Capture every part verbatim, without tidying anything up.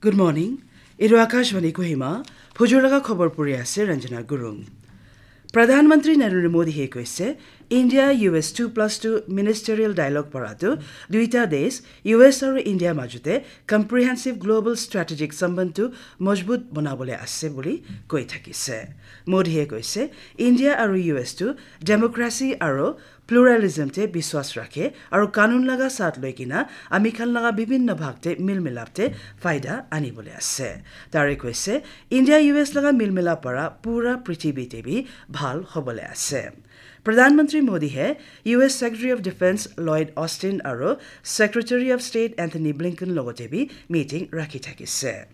Good morning. Etu Akashvani Kohima, phujur laga khobor puri ase Ranjana Gurung. Pradhan Mantri Narendra Modi he koise, India U S two plus two ministerial dialogue para tu duita desh U S aru India majute comprehensive global strategic sambandh tu mojbut banabole ase buli koi thakise. Modi he koise, India aru U S tu democracy aru pluralism te biswas rakhe aru kanun laga saath loi kina ami khan laga bibhinna bhag te mil milap te faida anibole ase. Tare koise, India U S laga mil milap para pura prithibi te bi bhal hobole ase. Pradhan Mantri Modi he U S Secretary of Defense Lloyd Austin aru Secretary of State Anthony Blinken logote bi meeting rakhi thakise.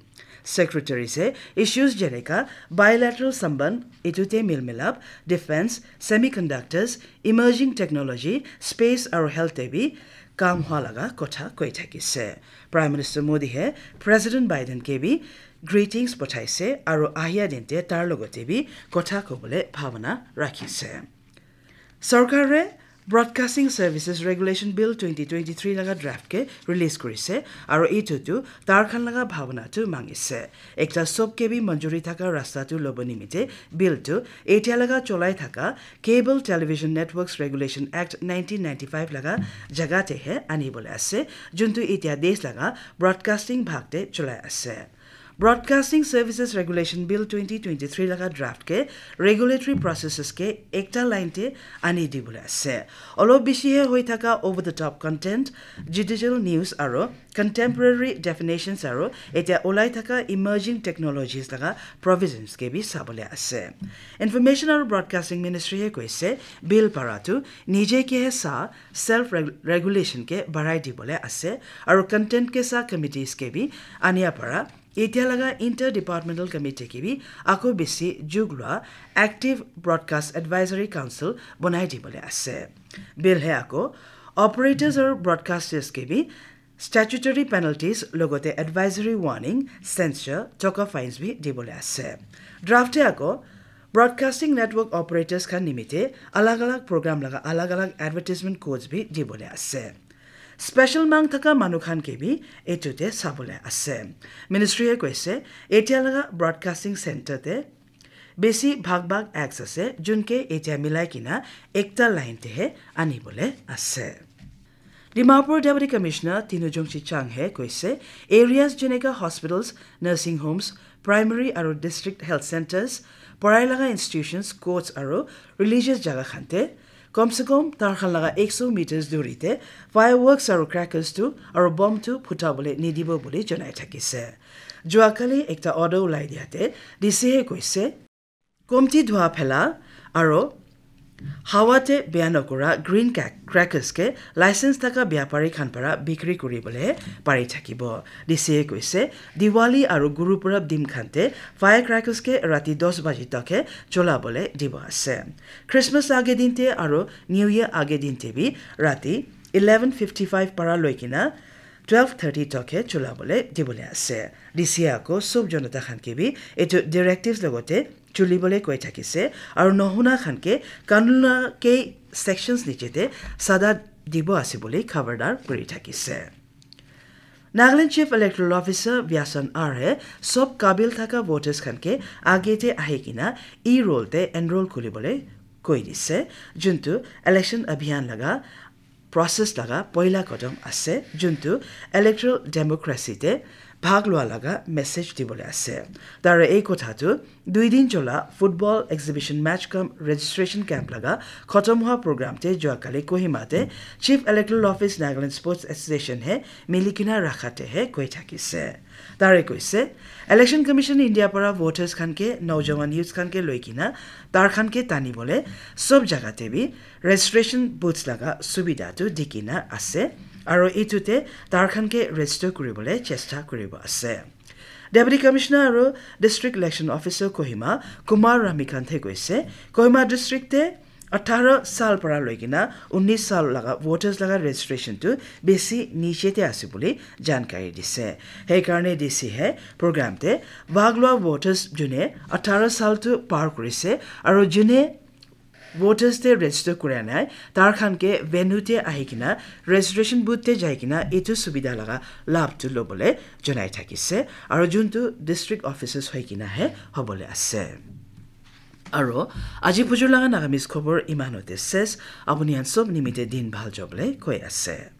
Secretary se issues jeneka bilateral samband, itute mil milap, defense, semiconductors, emerging technology, space aru health te bi kam hua laga kotha koi thakise. Prime Minister Modi he President Biden ke bi greetings pothaise aru ahia din te tar logote bi kotha kobole bhabana rakhise. Sarkare Broadcasting Services Regulation Bill twenty twenty-three laga draft ke release kurise aru itu tu tar khan laga bhabana tu mangise. Ekta sob ke bi manjuri thaka rasta tu lobo nimite bill tu etia laga cholai thaka Cable Television Networks Regulation Act nineteen ninety-five laga jaga te he anibole ase, juntu etia desh laga broadcasting bhag te cholai ase. Broadcasting Services Regulation Bill twenty twenty-three laga draft ke regulatory processes ke ekta line te ani dibole ase. Olop bishi he hoi thaka over the top content, judicial news aro contemporary definitions aro etia olai thaka emerging technologies laga provisions ke bi sabole ase. Information aro Broadcasting Ministry he koise bill para tu nije ke he sa self reg- regulation ke barai dibole ase aro content ke sa committees ke bi ania para etia laga interdepartmental committee ke bi ako besi jug lua active broadcast advisory council bonai dibole ase. Bill he ako operators or broadcasters ke bi statutory penalties logote advisory warning, censure, toka fines bi dibole ase. Draft he ako broadcasting network operators khan nimite alag alag program laga alag alag advertisement codes bi dibole ase. Special mang thaka manu khan ke bi etu te sabole ase. Ministry he koise etia laga broadcasting center te besi bhag bhag acts ase junke etia milai kina ekta line te he anibole ase. Dimapur Deputy Commissioner Tinu Jongchi Chang he koise areas jeneka hospitals, nursing homes, primary aru district health centers, porai laga institutions, courts aru religious jaga khan te kom se kom tar khan laga ekso meters duri te fireworks aru crackers tu aru bomb tu phuta bole nidibo bole janai thakise. Jua kali ekta order ulai dia te D C he koise komti dhua phela aru hawa te beya nokura green crackers ke license thaka byapari khan para bikri kuri bole pari thakibo. D C he koise Diwali aru Guru Purab din khan te firecrackers ke rati dos baji tak he chola bole dibo ase. Christmas age din te aru New Year age din te bi rati eleven fifty five para loi kina twelve thirty tak he chola bole dibole ase. D C ako sob jonata khan ke bi etu directives logote chuli bole koi thakise aru nohuna khan ke kanuna ke sections niche te sada dibo ase bole khabardar kuri thakise. Nagaland Chief Electoral Officer Byasan R he sob kabil thaka voters khan ke age te ahi kina e-roll te enroll kuri bole koi dise, juntu election abhiyan laga process laga poila kodom ase, juntu electoral democracy te bhag lua laga message dibole ase. Tara ei kotha tu dui din chola football exhibition match cum registration camp laga khotom hua program te jua kali Kohima te Chief Electoral Office Nagaland Sports Association he milikina rakha te he koi thakise. Tare koise, Election Commission India para voters khan ke, naujawan youths khan ke loi kina, tar khan ke tani bole sob jaga te bi registration booths laga subida tu di kina ase, aro itu te tar khan ke register kuri bole chesta kuri bo ase. Deputy Commissioner aro District Election Officer Kohima Kumar Ramikanthe koise, Kohima District te atharo sal para loi kina unis sal laga voters laga registration tu besi niche te ase bole jankari dise. Hei karne D C he program te bhag lua voters june atharo sal tu par kurise aro june voters te register kura nai, tar khan ke venue te ahi kena, registration booth te jai kena, etu subidha laga labh tu lobole janai thakise. Aro juntu district offices hoi kena he hobole ase. Aro aji pujur laga Nagamese khobor iman hote ses, apuni khan sob nimite din bhal jobole koi ase.